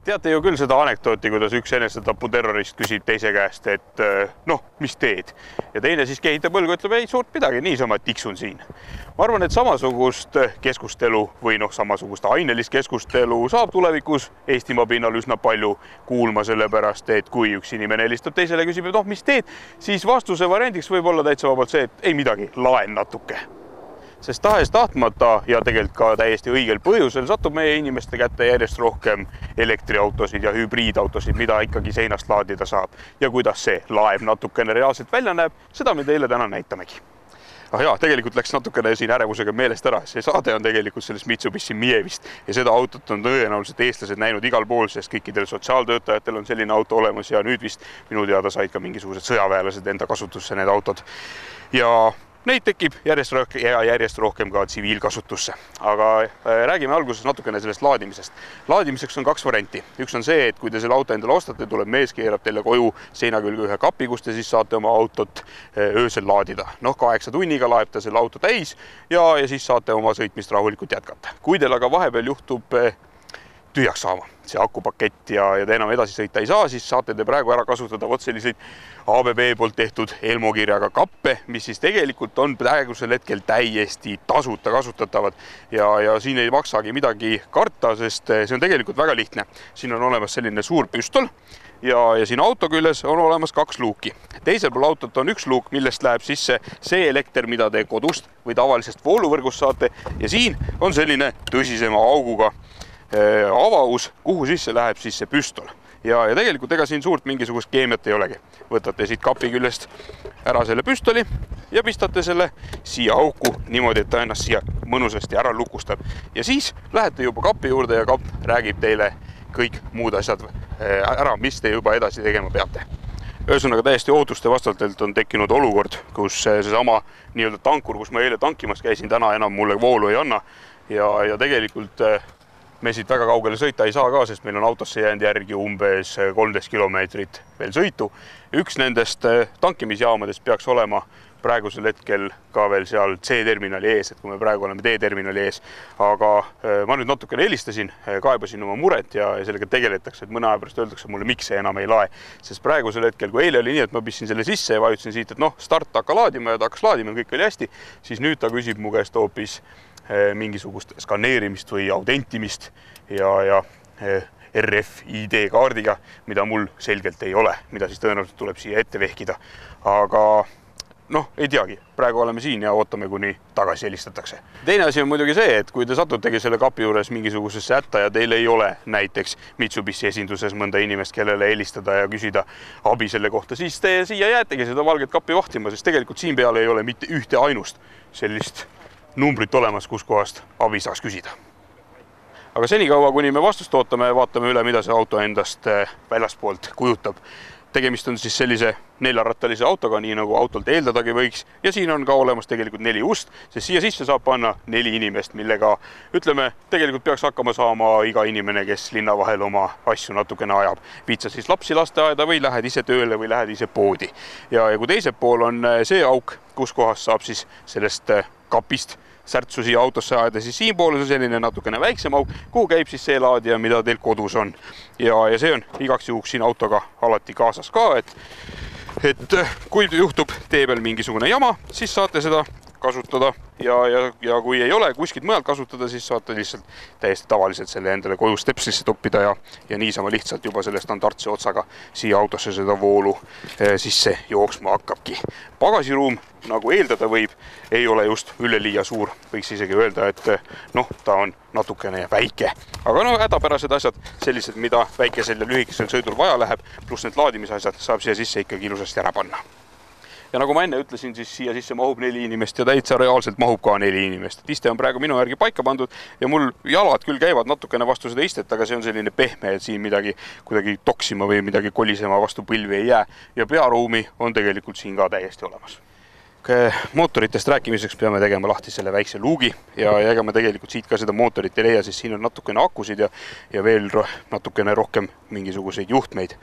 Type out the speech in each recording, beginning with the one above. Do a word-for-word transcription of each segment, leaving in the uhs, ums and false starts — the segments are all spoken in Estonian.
Teate ju küll seda anekdooti, kuidas üks enesetapu terrorist küsib teise käest, et noh, mis teed? Ja teine siis kehitab õlgu, ütleb, ei suurt midagi, niisama tiksun siin. Ma arvan, et samasugust keskustelu või noh, samasugust ainelist keskustelu saab tulevikus Eestimaa pinnal üsna palju kuulma selle pärast, et kui üks inimene helistab teisele ja küsib, et noh, mis teed, siis vastuse variandiks võib olla täitsa vabalt see, et ei midagi, laen natuke. Sest tahes tahtmata ja tegelikult ka täiesti õigel põhjusel satub meie inimeste kätte järjest rohkem elektriautosid ja hübriidautosid, mida ikkagi seinast laadida saab. Ja kuidas see laev natukene reaalselt välja näeb, seda me teile täna näitamegi. Ah jaa, tegelikult läks natukene siin ärevusega meelest ära. See saade on tegelikult sellest Mitsubishi Mievist ja seda autot on tõenäoliselt eestlased näinud igal pool, sest kõikidel sotsiaaltöötajatel on selline auto olemas ja nüüd vist minu teada said ka mingisugused sõjaväelased enda kasutusse need autod. Ja neid tekib järjest rohkem ja järjest rohkem ka tsiviilkasutusse. Aga räägime alguses natukene sellest laadimisest. Laadimiseks on kaks varianti. Üks on see, et kui te selle auto endale ostate, tuleb mees keerab teile koju seina külge ühe kapi, kus te siis saate oma autot öösel laadida. Noh, kaheksa tunniga laeb ta selle auto täis ja, ja siis saate oma sõitmist rahulikult jätkata. Kui teil aga vahepeal juhtub tühjaks saama see akupakett ja, ja te enam edasi sõita ei saa, siis saate te praegu ära kasutada vot selliseid A B B poolt tehtud Elmo kirjaga kappe, mis siis tegelikult on praegusel hetkel täiesti tasuta kasutatavad ja, ja siin ei maksagi midagi karta, sest see on tegelikult väga lihtne. Siin on olemas selline suur püstol ja, ja siin auto küljes on olemas kaks luuki. Teisel pool autot on üks luuk, millest läheb sisse see elekter, mida te kodust või tavalisest vooluvõrgust saate ja siin on selline tõsisema auguga avaus, kuhu sisse läheb siis see püstol. Ja, ja tegelikult ega siin suurt mingisugust keemiat ei olegi. Võtate siit kapi küljest ära selle püstoli ja pistate selle siia auku niimoodi, et ta ennast siia mõnusasti ära lukustab. Ja siis lähete juba kapi juurde ja kapp räägib teile kõik muud asjad ära, mis te juba edasi tegema peate. Ühesõnaga täiesti ootuste vastavalt on tekkinud olukord, kus seesama nii-öelda tankur, kus ma eile tankimas käisin, täna enam mulle voolu ei anna ja, ja tegelikult me siit väga kaugele sõita ei saa ka, sest meil on autosse jäänud järgi umbes kolmteist kilomeetrit veel sõitu. Üks nendest tankimisjaamadest peaks olema praegusel hetkel ka veel seal C-terminali ees, et kui me praegu oleme D-terminali ees. Aga ma nüüd natukene helistasin, kaebasin oma muret ja sellega tegeletakse, et mõne aja pärast öeldakse mulle, miks see enam ei lae. Sest praegusel hetkel, kui eile oli nii, et ma pistsin selle sisse ja vajutasin siit, et noh, start hakka laadima ja ta hakkas laadima, kõik oli hästi, siis nüüd ta küsib mu käest hoopis mingisugust skaneerimist või autentimist ja, ja R F I D kaardiga, mida mul selgelt ei ole, mida siis tõenäoliselt tuleb siia ette vehkida. Aga noh, ei teagi, praegu oleme siin ja ootame, kuni tagasi helistatakse. Teine asi on muidugi see, et kui te satutegi selle kapi juures mingisugusesse hätta ja teil ei ole näiteks Mitsubishi esinduses mõnda inimest, kellele helistada ja küsida abi selle kohta, siis te siia jäätegi seda valget kapi vahtima, sest tegelikult siin peale ei ole mitte ühte ainust sellist numbrit olemas, kus kohast abi saaks küsida. Aga senikaua, kuni me vastust ootame, vaatame üle, mida see auto endast väljaspoolt kujutab. Tegemist on siis sellise neljarattalise autoga, nii nagu autolt eeldadagi võiks. Ja siin on ka olemas tegelikult neli ust, sest siia sisse saab panna neli inimest, millega, ütleme, tegelikult peaks hakkama saama iga inimene, kes linna vahel oma asju natukene ajab. Viitsa siis lapsi lasteaeda või lähed ise tööle või lähed ise poodi. Ja, ja kui teisel pool on see auk, kus kohas saab siis sellest kapist särtsu siia autosse ajada, siis siin pool on selline natukene väiksem auk, kuhu käib siis see laadija, mida teil kodus on. Ja, ja see on igaks juhuks siin autoga alati kaasas ka, et, et kui juhtub tee peal mingisugune jama, siis saate seda kasutada ja, ja, ja kui ei ole kuskilt mujalt kasutada, siis saate lihtsalt täiesti tavaliselt selle endale koju stepslisse toppida ja, ja niisama lihtsalt juba selle standardse otsaga siia autosse seda voolu sisse jooksma hakkabki. Pagasiruum, nagu eeldada võib, ei ole just üleliia suur. Võiks isegi öelda, et noh, ta on natukene väike. Aga no hädapärased asjad, sellised, mida väikesel ja lühikesel sõidul vaja läheb, pluss need laadimisasjad saab siia sisse ikkagi ilusasti ära panna. Ja nagu ma enne ütlesin, siis siia sisse mahub neli inimest ja täitsa reaalselt mahub ka neli inimest. Iste on praegu minu järgi paika pandud ja mul jalad küll käivad natukene vastu seda istet, aga see on selline pehme, et siin midagi kuidagi toksima või midagi kolisema vastu põlvi ei jää. Ja pearuumi on tegelikult siin ka täiesti olemas. Mootoritest rääkimiseks peame tegema lahti selle väikse luugi ja ega me tegelikult siit ka seda mootorit ei leia, sest siin on natukene akusid ja, ja veel ro natukene rohkem mingisuguseid juhtmeid.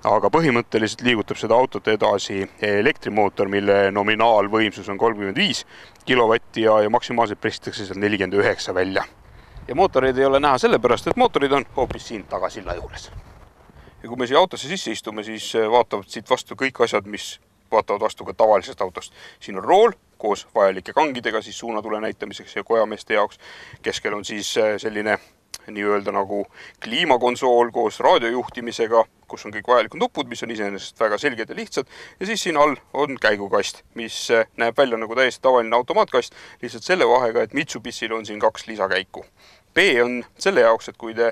Aga põhimõtteliselt liigutab seda autot edasi elektrimootor, mille nominaalvõimsus on kolmkümmend viis kilovatti ja, ja maksimaalselt pressitakse seal nelikümmend üheksa välja. Ja mootoreid ei ole näha sellepärast, et mootorid on hoopis siin tagasilla juures. Ja kui me siia autosse sisse istume, siis vaatavad siit vastu kõik asjad, mis vaatavad vastu ka tavalisest autost. Siin on rool koos vajalike kangidega siis suunatule näitamiseks ja kojameeste jaoks. Keskel on siis selline nii-öelda nagu kliimakonsool koos raadiojuhtimisega, kus on kõik vajalikud nupud, mis on iseenesest väga selged ja lihtsad. Ja siis siin all on käigukast, mis näeb välja nagu täiesti tavaline automaatkast, lihtsalt selle vahega, et Mitsubishil on siin kaks lisakäiku. B on selle jaoks, et kui te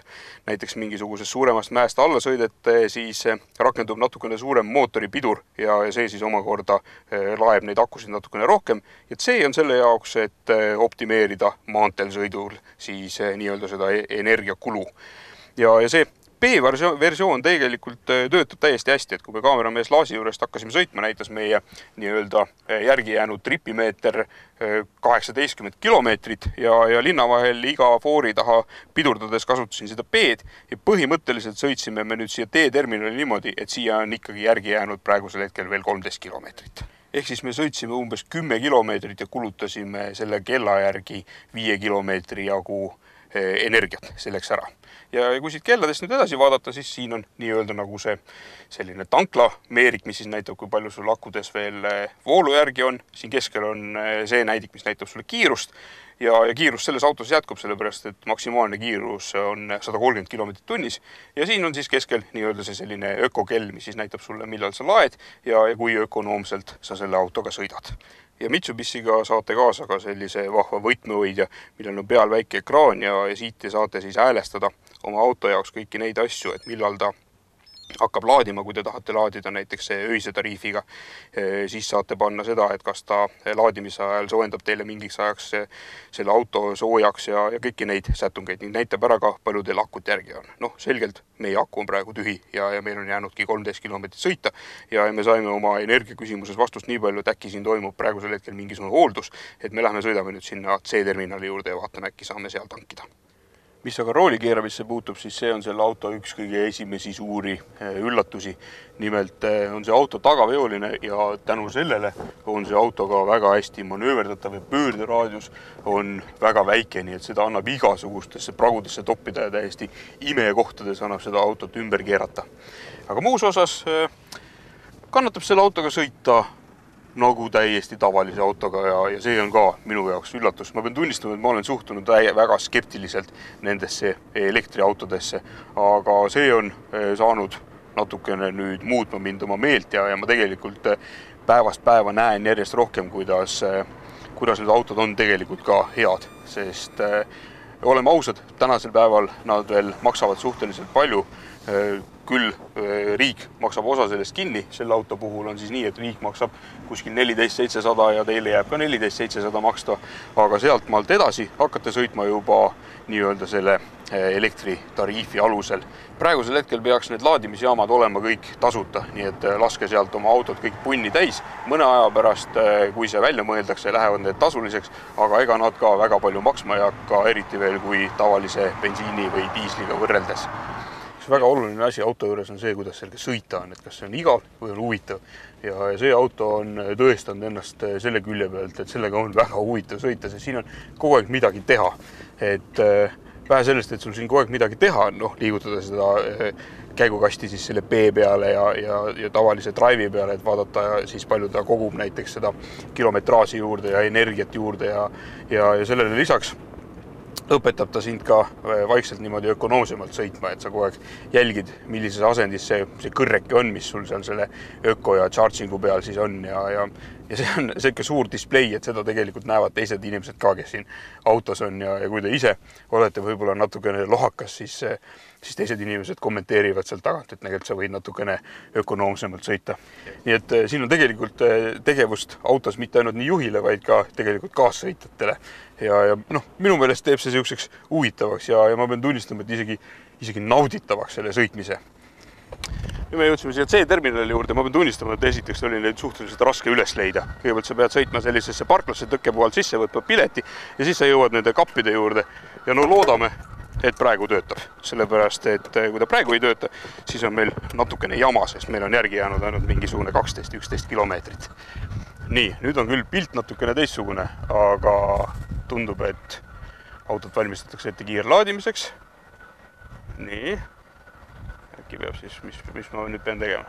näiteks mingisugusest suuremast mäest alla sõidete, siis rakendub natukene suurem mootoripidur ja see siis omakorda laeb neid akusid natukene rohkem. Ja C on selle jaoks, et optimeerida maanteel sõidul siis nii-öelda seda energiakulu. Ja, ja see B-versioon tegelikult töötab täiesti hästi, et kui me kaameramees Laasi juurest hakkasime sõitma, näitas meie nii-öelda järgi jäänud tripimeeter kaheksateistkümmend kilomeetrit ja, ja linna vahel iga foori taha pidurdades kasutasin seda B-d ja põhimõtteliselt sõitsime me nüüd siia D-terminali niimoodi, et siia on ikkagi järgi jäänud praegusel hetkel veel kolmteist kilomeetrit. Ehk siis me sõitsime umbes kümme kilomeetrit ja kulutasime selle kella järgi viie kilomeetri jagu energiat selleks ära. Ja kui siit kelladest nüüd edasi vaadata, siis siin on nii-öelda nagu see selline tanklameerik, mis siis näitab, kui palju sul akudes veel voolu järgi on. Siin keskel on see näidik, mis näitab sulle kiirust ja, ja kiirus selles autos jätkub, sellepärast, et maksimaalne kiirus on sada kolmkümmend kilomeetrit tunnis. Ja siin on siis keskel nii-öelda see selline ökokell, mis siis näitab sulle, millal sa laed ja, ja kui ökonoomselt sa selle autoga sõidad. Ja Mitsubishiga saate kaasa ka sellise vahva võtmehoidja, millel on peal väike ekraan ja, ja siit saate siis häälestada oma auto jaoks kõiki neid asju, et millal ta hakkab laadima, kui te tahate laadida näiteks öise tariifiga, siis saate panna seda, et kas ta laadimise ajal soojendab teile mingiks ajaks selle auto soojaks ja, ja kõiki neid sätungeid ning näitab ära ka, palju teil akut järgi on. Noh, selgelt meie aku on praegu tühi ja, ja meil on jäänudki kolmteist kilomeetrit sõita ja me saime oma energiaküsimuses vastust nii palju, et äkki siin toimub praegusel hetkel mingisugune hooldus, et me lähme sõidame nüüd sinna C-terminali juurde ja vaatame, äkki saame seal tankida. Mis aga rooli keeramisse puutub, siis see on selle auto üks kõige esimesi suuri üllatusi. Nimelt on see auto tagaveoline ja tänu sellele on see auto ka väga hästi manööverdatav ja pöörderaadius on väga väike, nii et seda annab igasugustesse pragudesse toppida ja täiesti imekohtades annab seda autot ümber keerata. Aga muus osas kannatab selle autoga sõita nagu täiesti tavalise autoga ja, ja see on ka minu jaoks üllatus. Ma pean tunnistama, et ma olen suhtunud väga skeptiliselt nendesse elektriautodesse, aga see on saanud natukene nüüd muutma mind oma meelt ja, ja ma tegelikult päevast päeva näen järjest rohkem, kuidas, kuidas need autod on tegelikult ka head, sest oleme ausad, tänasel päeval nad veel maksavad suhteliselt palju. Küll riik maksab osa sellest kinni, selle auto puhul on siis nii, et riik maksab kuskil neliteist seitsesada ja teile jääb ka neliteist seitsesada maksta, aga sealt maalt edasi hakkate sõitma juba nii-öelda selle elektritariifi alusel. Praegusel hetkel peaks need laadimisjaamad olema kõik tasuta, nii et laske sealt oma autot kõik punni täis. Mõne aja pärast, kui see välja mõeldakse, lähevad need tasuliseks, aga ega nad ka väga palju maksma ei hakka, eriti veel kui tavalise bensiini või diisliga võrreldes. Väga oluline asi auto juures on see, kuidas selge sõita on, et kas see on igav või on huvitav. Ja see auto on tõestanud ennast selle külje pealt, et sellega on väga huvitav sõita, sest siin on kogu aeg midagi teha. Et vähe sellest, et sul siin kogu aeg midagi teha, noh, liigutada seda käigukasti siis selle B peale ja, ja, ja tavalise drive'i peale, et vaadata siis palju ta kogub näiteks seda kilometraaži juurde ja energiat juurde ja, ja, ja sellele lisaks õpetab ta sind ka vaikselt niimoodi ökonoomsemalt sõitma, et sa kogu aeg jälgid, millises asendis see, see kõrreki on, mis sul seal selle öko ja chargingu peal siis on ja, ja, ja see on selline suur display, et seda tegelikult näevad teised inimesed ka, kes siin autos on ja, ja kui te ise olete võib-olla natukene lohakas, siis, siis teised inimesed kommenteerivad sealt tagant, et tegelikult sa võid natukene ökonoomsemalt sõita. Nii et siin on tegelikult tegevust autos mitte ainult nii juhile, vaid ka tegelikult kaassõitjatele. Ja, ja noh, minu meelest teeb see siukseks huvitavaks ja, ja ma pean tunnistama, et isegi, isegi nauditavaks selle sõitmise. ja me jõudsime siia C-terminali juurde, ma pean tunnistama, et esiteks oli neid suhteliselt raske üles leida. Kõigepealt sa pead sõitma sellisesse parklasse tõkke puhul sisse, võtma pileti ja siis sa jõuad nende kappide juurde ja no loodame, et praegu töötab. Sellepärast, et kui ta praegu ei tööta, siis on meil natukene jama, sest meil on järgi jäänud ainult mingisugune kaksteist üksteist kilomeetrit. Nii, nüüd on küll pilt natukene teistsugune, aga tundub, et autot valmistatakse ette kiirlaadimiseks. Nii, äkki peab siis, mis, mis ma nüüd pean tegema?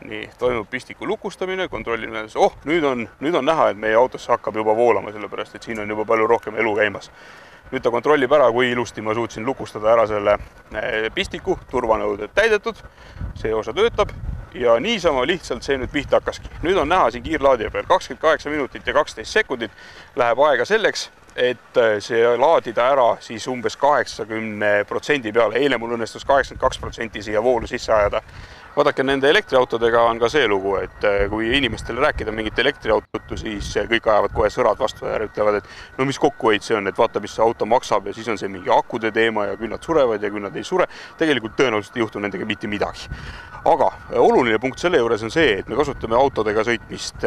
Nii, toimub pistiku lukustamine, kontrollimine. Oh, nüüd on, nüüd on näha, et meie autosse hakkab juba voolama, sellepärast, et siin on juba palju rohkem elu käimas. Nüüd ta kontrollib ära, kui ilusti ma suutsin lukustada ära selle pistiku, turvanõuded täidetud, see osa töötab ja niisama lihtsalt see nüüd pihta hakkaski. Nüüd on näha siin kiirlaadija peal kakskümmend kaheksa minutit ja kaksteist sekundit läheb aega selleks, et see laadida ära siis umbes kaheksakümne protsendi peale. Eile mul õnnestus kaheksakümmend kaks protsenti siia voolu sisse ajada. Vaadake, nende elektriautodega on ka see lugu, et kui inimestele rääkida mingit elektriautotu, siis kõik ajavad kohe sõrad vastu ja ütlevad, et no mis kokkuhoid see on, et vaata, mis see auto maksab ja siis on see mingi akude teema ja küll nad surevad ja küll nad ei sure. Tegelikult tõenäoliselt ei juhtu nendega mitte midagi. Aga oluline punkt selle juures on see, et me kasutame autodega sõitmist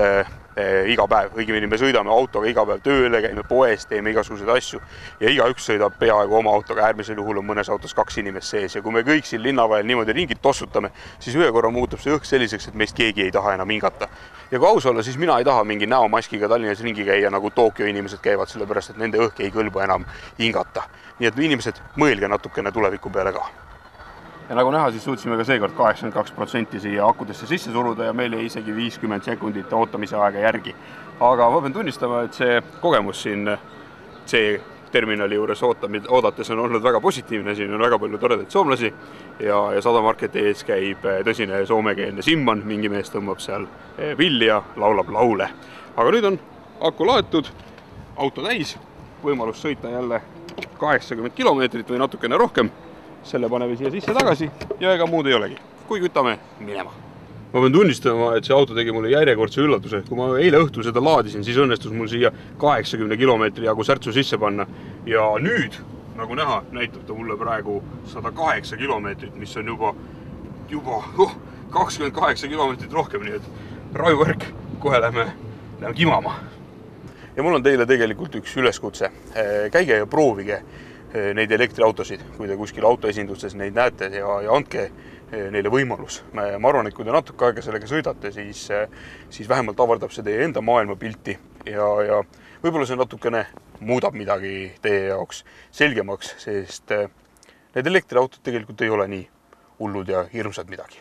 iga päev. Õigemini me sõidame autoga iga päev tööle, käime poes, teeme igasuguseid asju ja igaüks sõidab peaaegu oma autoga. Äärmisel juhul on mõnes autos kaks inimest sees ja kui me kõik siin linna vahel niimoodi ringid tossutame, siis ühe korra muutub see õhk selliseks, et meist keegi ei taha enam hingata. Ja kui aus olla, siis mina ei taha mingi näomaskiga Tallinnas ringi käia, nagu Tokyo inimesed käivad, sellepärast, et nende õhk ei kõlba enam hingata. Nii et inimesed mõelge natukene tuleviku peale ka. Ja nagu näha, siis suutsime ka seekord kaheksakümmend kaks protsenti siia akudesse sisse suruda ja meil jäi isegi viiskümmend sekundit ootamise aega järgi. Aga ma pean tunnistama, et see kogemus siin C-terminali juures oodates on olnud väga positiivne. Siin on väga palju toredaid soomlasi ja, ja Sadamarketi ees käib tõsine soomekeelne Simman. Mingi mees tõmbab seal villi ja laulab laule. Aga nüüd on aku laetud, auto täis, võimalus sõita jälle kaheksakümmend kilomeetrit või natukene rohkem. Selle paneme siia sisse tagasi ja ega muud ei olegi. Kui kütame minema. Ma pean tunnistama, et see auto tegi mulle järjekordse üllatuse. Kui ma eile õhtul seda laadisin, siis õnnestus mul siia kaheksakümne kilomeetri jagu särtsu sisse panna. Ja nüüd, nagu näha, näitab ta mulle praegu sada kaheksa kilomeetrit, mis on juba, juba oh, kakskümmend kaheksa kilomeetrit rohkem. Nii et rajuvärk, kohe lähme, lähme kimama. Ja mul on teile tegelikult üks üleskutse. Käige ja proovige neid elektriautosid, kui te kuskil autoesindustes neid näete ja, ja andke neile võimalus. Ma arvan, et kui te natuke aega sellega sõidate, siis, siis vähemalt avardab see teie enda maailmapilti ja, ja võib-olla see natukene muudab midagi teie jaoks selgemaks, sest need elektriautod tegelikult ei ole nii hullud ja hirmsad midagi.